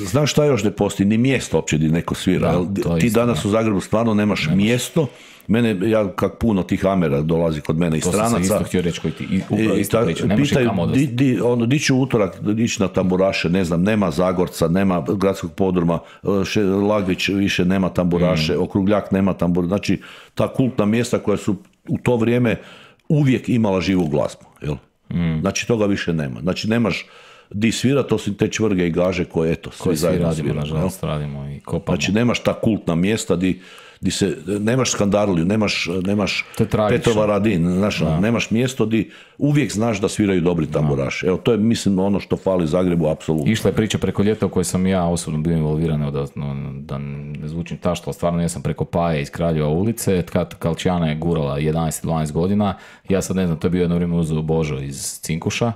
Znaš šta još ne postoji? Ni mjesto uopće gdje neko svira. Ti danas u Zagrebu stvarno nemaš mjesto. Ja kak puno tih Amera dolazi kod mene iz stranaca. To sam isto htio reći koji ti upravo isto priča. Nemaš i kamo odvesti. Di ću utorak ići na tamburaše, ne znam, nema Zagorca, nema gradskog podruma, Lagvić više nema tamburaše, Okrugljak nema tamburaše. Znači, ta kultna mjesta koja su u to vrijeme uvijek imala živu glazbu. Jel? Znači, toga više nema. Znači, nemaš di svira, to su te čvrge i gaže koje, eto, svi zajedno svira. Nažalost, radimo i kopamo. Znači, nemaš ta kultna mjesta di se, nemaš Skandaliju, nemaš Petrova Radin, znaš, nemaš mjesto di uvijek znaš da sviraju dobri tamburaši. Evo, to je, mislim, ono što fali Zagrebu, apsolutno. Išla je priča preko ljeta u kojoj sam ja osobno bio involviran, da ne zvučim tašto, ali stvarno jesam preko Paje iz Kraljeva ulice, kad Kalčijana je gurala 11-12 godina, ja sad ne znam, to je bio jedno vrijeme uzeo Božo iz Cinkuša,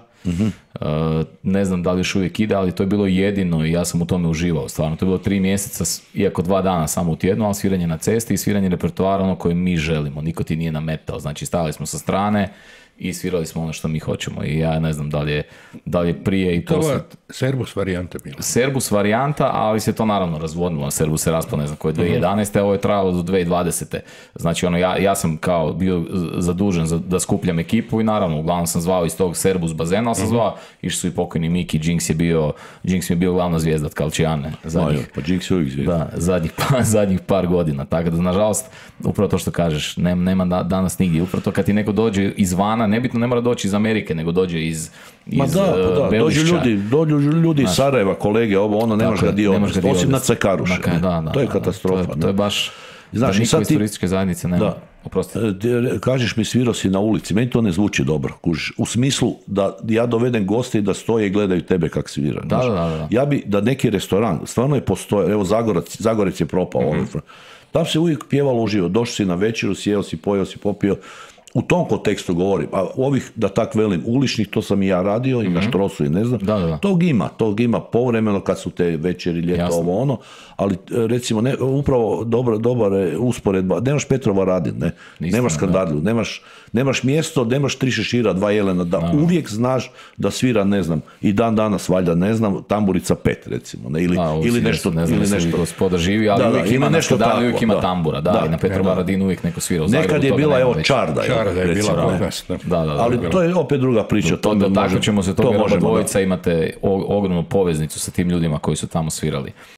ne znam da li još uvijek ide, ali to je bilo jedino i ja sam u tome uživao, stvarno, to je bilo 3 mjeseca, iako 2 dana samo u tjednu, ali sviranje na cesti i sviranje repertoara ono koje mi želimo, niko ti nije nametao, znači stavili smo sa strane i svirali smo ono što mi hoćemo i ja ne znam da li je prije i poslije. To je Serbus varijanta bila. Serbus varijanta, ali se to naravno razvodnilo. Serbus se raspao, ne znam koje, 2011. Ovo je trajalo do 2020. Znači, ono, ja sam kao bio zadužen da skupljam ekipu i naravno, uglavnom sam zvao iz tog Serbus bazena, ali sam zvao, išli su i pokojni Miki, Jinx mi je bio glavna zvijezda od Kalčijane. Pa Jinx je uvijek zvijezda. Da, zadnjih par godina. Tako da, nažalost, upravo to što kažeš, nema danas nigdje. Upravo to kad ti neko dođe izvana, nebitno ne mora doći iz Amerike, nego dođe iz Belišća. Dođu ljudi iz Sarajeva, kolege, nemaš ga dio, osim na Cekaruše. To je katastrofa. To je baš, da niko iz turističke zajednice nema. Kažeš mi svirao si na ulici, meni to ne zvuči dobro, u smislu da ja dovedem goste i da stoje i gledaju tebe kak svira. Ja bi da neki restoran, stvarno je postoje, evo Zagorec je propao, tam se uvijek pjevalo uživo, došao si na večeru, sjeo si, pojeo si, popio. U tom kontekstu govorim, a ovih, da tak velim, uličnih, to sam i ja radio i na Štrosu i ne znam, tog ima povremeno kad su te večeri, ljeto, ali recimo, upravo dobra usporedba, nemaš Petrova Radin, nemaš Skandaliju, nemaš mjesto, nemaš 3 šešira, 2 jelena, da uvijek znaš da svira, ne znam, i dan danas, valjda, ne znam, Tamburica 5, recimo, ili nešto. Ne znam da se gospoda živi, ali uvijek ima na Skandaliju, uvijek ima tambura, i na Petrova Radinu uvijek neko svira u Zagrebu. Nekad je bila, evo, Čarda, da je bila kod nas. Ali to je opet druga priča. Tako ćemo se toga dvojica, imate ogromnu poveznicu sa tim ljudima koji su tamo svirali.